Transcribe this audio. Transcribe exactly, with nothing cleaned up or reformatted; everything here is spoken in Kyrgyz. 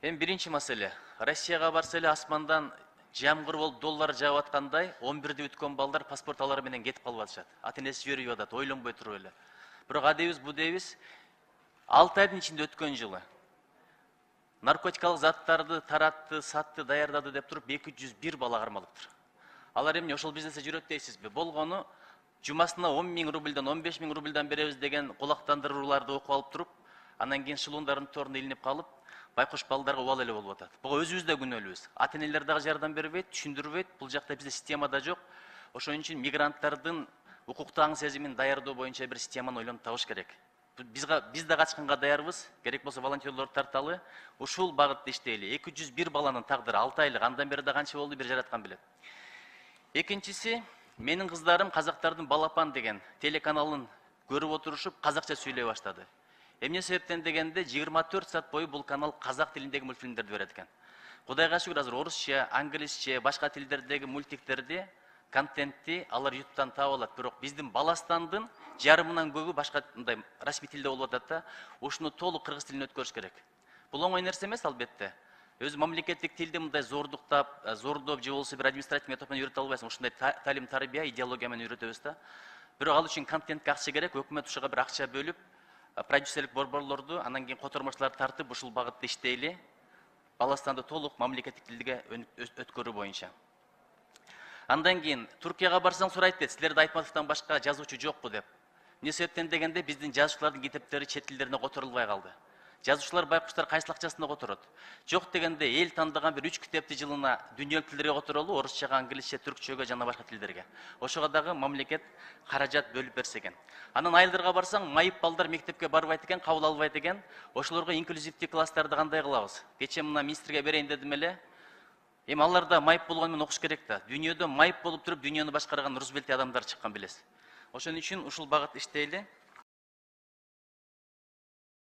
Эми биринчи маселе. Россияга барса эле асмандан жамгыр болуп доллар жаап аткандай он бирде бүткөн балдар паспорт алары менен кетип калып атышат. Ата энеси жибербей атат, ойлонбой туруп эле. Бирок адебиз бу дейбиз алты айдын ичинде өткөн жылы наркотикалык заттарды таратты, сатты, даярдады деп туруп эки жүз бир бала кармалыптыр. Алар эмне ошол бизнесте жүрөт дейсизби? Болгону жумасына он миң рубльдан он беш миң рубльдан беребиз деген кулактандырууларды окуп алып туруп, анан кийин шылуундардын торуна илинип калып, байкуш балдарга убал эле болуп атат. Буга өзүбүз да күнөөлүүбүз. Ата энелер дагы жардам бербейт, түшүндүрбөйт. Бул жакта бизде система да жок. Ошон үчүн мигранттардын укуктуу аң сезимин даярдоо боюнча бир системаны ойлонуп табыш керек. Бизге биз да качканга даярбыз. Керек болсо волонтерлорду тарталы. Ушул багытта иштейли. эки жүз бир баланын тагдыры алты айлык. Андан бери да канча болду, бир жараткан билет. Экинчиси, менин кыздарым Казактардын Балапан деген телеканалын көрүп отурушуп, казакча сүйлөй баштады. Эмне себептен дегенде жыйырма төрт саат бою бул канал казак тилиндеги мультфильмдерди берет экен. Кудайга шүгүр, азыр орусча, англисче, башка тилдердеги мультиктерди, контентти алар ютубтан таап алат. Бирок биздин Баластандын жарымынан көбү башка мындай расмий тилде болуп атат да, ушуну толук кыргыз тилине өткөрүш керек. Бул оңой нерсе эмес албетте. Өзү мамлекеттик тилди мындай зордуктап, зордоп же болбосо бир административный метод менен үйрөтө албайсың. Ушундай талим тарбия, идеология менен үйрөтөбүз да. Бирок ал үчүн контентке акча керек, өкмөт ушуга бир акча бөлүп, продюсерлик борборлорду, анан кийин котормочуларды тартып ушул багытта иштейли. Баластанды толук мамлекеттик тилге өткөрүү боюнча. Андан кийин Туркияга барсаң сурайт дейт, силерде Айтматовдон башка жазуучу жокпу деп. Эмне себептен дегенде биздин жазуучулардын китептери чет тилдерине которулбай калды. Жазуучулар байкуштар кайсыл акчасына которот? Жок дегенде эл тандаган бир үч китепти жылына дүйнөлүк тилдерге которолу, орусчага, англисче, түркчөгө жана башка тилдерге. Ошого дагы мамлекет каражат бөлүп берсе экен. Анан айылдарга барсаң, майып балдар мектепке барбайт экен, кабыл албайт экен. Ошолорго инклюзивдүү класстарды кандай кылабыз? Кече мына министрге берейин дедим эле. Эми алар да майып болгону менен окуш керек да. Дүйнөдө майып болуп туруп, дүйнөнү башкарган Рузвельт адамдар чыккан билесиз. Ошон үчүн ушул багыт иштейли.